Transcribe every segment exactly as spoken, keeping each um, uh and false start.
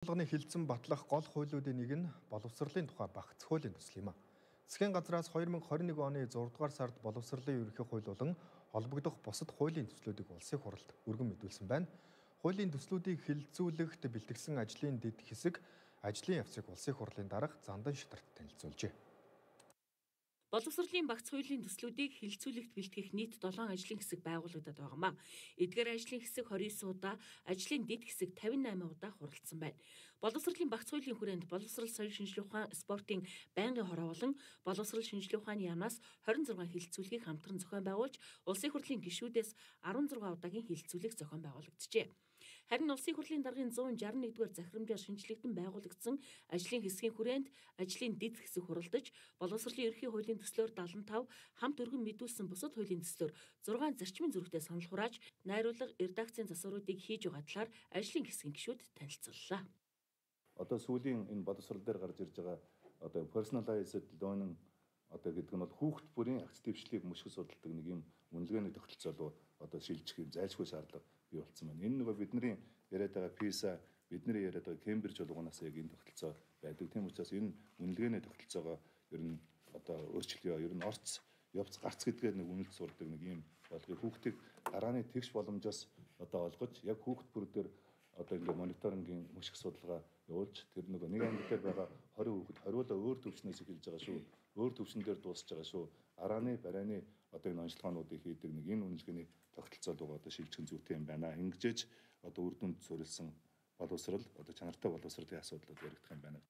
Болгоны хилцэн батлах гол хуулиудын нэг нь боловсролын тухай багц хуулийн төсөл юм а. Засгийн газраас хоёр мың хорин нэг оны зургаадугаар сард боловсролын ерөнхий хууль болон холбогдох бусад хуулийн төслүүдийг улсын хурлд өргөн мэдүүлсэн байна. Хуулийн төслүүдийг хэлэлцүүлэхт бэлтгэсэн ажлын дэд хэсэг ажлын явцыг улсын хурлын дарга Зандан Шидарт танилцуулжээ. Боловсролын багц хуулийн төслүүдийг хэлэлцүүлэхт бэлтгэх нийт долоон ажлын хэсэг байгуулагдаад байгаамаа. Эдгээр ажлын хэсэг двадцать девять удаа, ажлын дэд хэсэг пятьдесят восемь удаа хуралдсан байна. Боловсролын багц хуулийн хүрээнд боловсрол соёл шинжилгээ ухаан спортын байнгын хороо болон боловсрол шинжилгээ ухааны яамнаас двадцать шесть хэлэлцүүлгийг хамтран зохион байгуулж, улсын хурлын гишүүдээс16удаагийн хэлэлцүүлэг зохион байгуулагджээ. Харин улсын хурлын даргын one sixty-one-р захирамжаар шинжлэгдэн байгуулагдсан ажлын хэсгийн хүрээнд ажлын дэд хэсэг хуралдаж, боловсролын ерөнхий хуулийн төслөөр seventy-five, хамт өргөн мэдүүлсэн бусад хуулийн төслөөр six зарчмын зүрхтэй санал хурааж, найруулга редакцийн засваруудыг хийж байгаа талаар ажлын хэсгийн гишүүд танилцууллаа. Одоо сүүлийн энэ боловсрол дээр гарч ирж байгаа одоо personalized learning одоо гэдэг нь бол хүүхд бүрийн агц дэвшлийг мөшгөс судалдаг нэг юм үнэлгээний тогтолцоо руу одоо шилжих юм зайлшгүй шаардлага бий болсон байна. Энэ нөгөө бидний яриад байгаа PISA, бидний яриад байгаа Кембриж болгоноос яг энэ тогтолцоо байдаг. Тийм учраас энэ үнэлгээний тогтолцоогоо ер нь одоо өөрчлөё. Ер нь орц, явц, гарц гэдгээр нэг үнэлж сурдаг нэг юм болгоё. Хүүхдийг гарааны тэгш боломжоос одоо олгож яг хүүхд бүр дээр одоо ингээ мониторингийн мөшг судалгаа явуулж тэр нөгөө нэг анги дээр байгаа twenty хүүхэд twenty-уулаа өөр төвчнөөс эхэлж байгаа шүү. Өөр төвчнөн дээр дуусч байгаа шүү. Арааны, барааны одоо энэ онцлогоонуудыг хийдэг нэг энэ үнэлгээний тогтолцоо руу одоо шилжих зүйтэй юм байна. Ингэжээж одоо үр дүнд суурилсан боловсрол одоо чанартай боловсролын асуудлууд яригдах юм байна.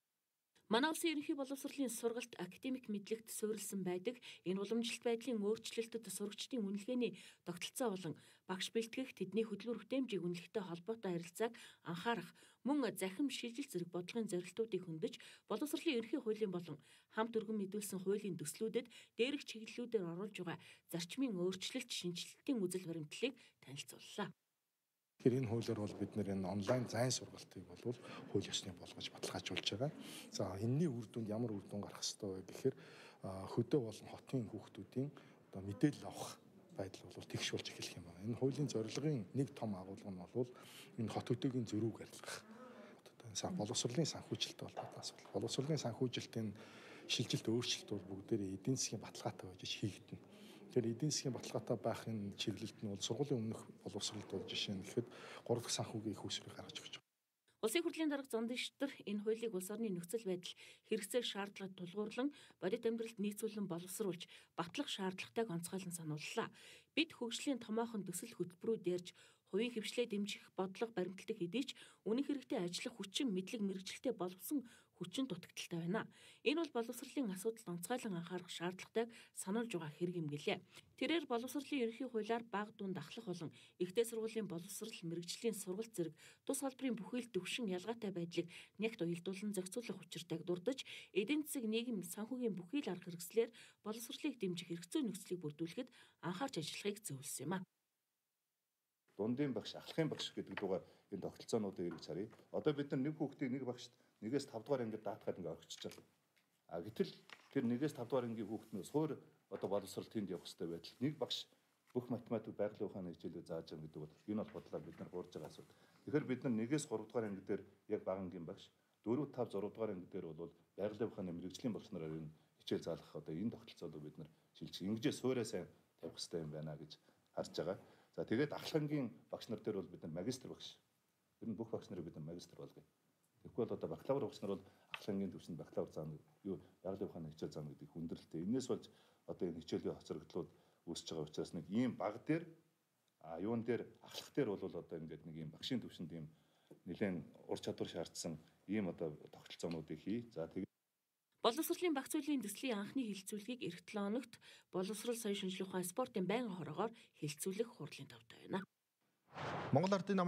Манай улсын ерөнхий боловсролын сургалт академик мэдлэгт суурилсан байдаг энэ уламжлалт байдлын өөрчлөлтөд сурагчдын үнэлгээний тогтолцоо болон багш бэлтгэх тэдний хөдөлмөр бүтээмжийг үнэлэхтэй холбоотой харилцааг анхаарах мөн захим шилжилт зэрэг бодлогын зорилтуудыг хөндөж боловсролын ерөнхий хуулийн болон хамт өргөн мэдүүлсэн хуулийн төслүүдэд дээрх чиглэлүүдээр оруулж байгаа зарчмын өөрчлөлт шинжилтийн үзэл баримтлалыг танилцууллаа. Тэгэхээр энэ хуулиар бол бид нэр энэ онлайн зайн сургалтыг бол хууль ёсны болгож баталгаажуулж байгаа. За энэний үр дүнд ямар үр дүн гарах ёстой вэ гэхээр хөдөө болон хотын хүүхдүүдийн одоо мэдээлэл авах байдал бол тэгш болж эхэлэх юм байна. Энэ хуулийн зорилгын нэг том агуулга нь бол энэ хот хөдөөгийн зөрүүг арилгах. Одоо боловсролын санхүүжилттэй холбоотой асуудал. Боловсролын санхүүжилтийн шилжилт өөрчлөлт бол бүгдээрээ эдийн засгийн баталгаатай байж хийгдэнэ. Тэгэхээр эдийн засгийн баталгаатай байх энэ чиглэлд нь бол сургуулийн өмнөх боловсролд бол жишээ нь гэхэд гурав дахь санхүүгийн их усрыг гаргаж өгч байгаа. Улсын хурлын дарга Зандан Шидар энэ хуулийг улс орны нөхцөл байдал хэрэгцээг шаардлагад тулгуурлан бодит амьдралд нийцүүлэн боловсруулж батлах шаардлагатайг онцгойлон санууллаа. Бид хөгжлийн томоохон төсөл хөтөлбөрүүд ярьж хувийн хвшлээ дэмжих бодлого баримталдаг хэдий ч үнэн хэрэгтээ ажиллах хүчин мэдлэг мэргэжилтэд боловсон хүчин дутагдaltaй байна. Энэ бол боловсролын асуудалд онцгойлон анхаарах шаардлагатайг сануулж байгаа хэрэг юм гэлээ. Тэрээр боловсролын ерөнхий хуулиар бага дунд ахлах болон ихтэй сургуулийн боловсрол мэргэжлийн сургалт зэрэг тус холбарын бүхэл төвшин ялгаатай байдлыг нягт уялдуулан зохицуулах учиртайг дурдж эдийн засаг нийгэм санхүүгийн бүхий л арга хэрэгслээр боловсролыг дэмжих хэрэгцээ нөхцөлийг бүрдүүлэхэд анхаарч ажиллахыг зөвлөсөн юм а. Дундын багш, ахлахын багш гэдэг дууга энэ тогтолцоонуудыг эргэж харъя. Одоо бид нар нэг хүүхдийг нэг багшд нэгээс five дугаар ангид даатгаад ингээ орчиж байгаа. А гэтэл тэр нэгээс five дугаар ангийн хүүхднээс хуур одоо боловсрол тэнд явах хэрэгтэй байтал нэг багш бүх математик байгалийн ухааны хичээлийг зааж байгаа гэдэг бол энэ бол бодлоо бид нар гуурж байгаа асуудал. Тэгэхээр бид нар нэгээс three дугаар анги дээр яг бага ангийн багш, four, five, six дугаар анги дээр бол байгалийн ухааны мэргэжлийн багш нараар энэ хичээл заалгах одоо энэ тогтолцоог бид нар шилжих. Ингэжээ суурай сайн тавих хэрэгтэй юм байна гэж харж байгаа. За тэгээд ахлагын багш нар дээр бол бид нар магистр багш. Ер нь бүх багш нарыг бид нар магистр болгоё. Тэгэхгүй бол одоо бакалавр багш нар бол ахлагын төвшөнд бакалавр заана юу байгалийн ухааны хичээл заана гэдэг хүндрэлтэй. Энээс болж одоо энэ хичээлийн хоцрогдлууд үүсэж байгаа учраас нэг ийм баг дээр а юун дээр ахлах дээр бол одоо ингээд нэг ийм багшийн төвшөнд ийм нэлээд ур чадвар шаардсан ийм одоо тогтолцоонуудыг хий. За тэгээд боловсролын багц хуулийн төслийн анхны хэлэлцүүлгийг эх seven хоногт боловсрол соёл шинжилгээ ухаан спортын байнгын хороогоор хэлэлцүүлэх хурлын тавтай байна. Монгол Ардын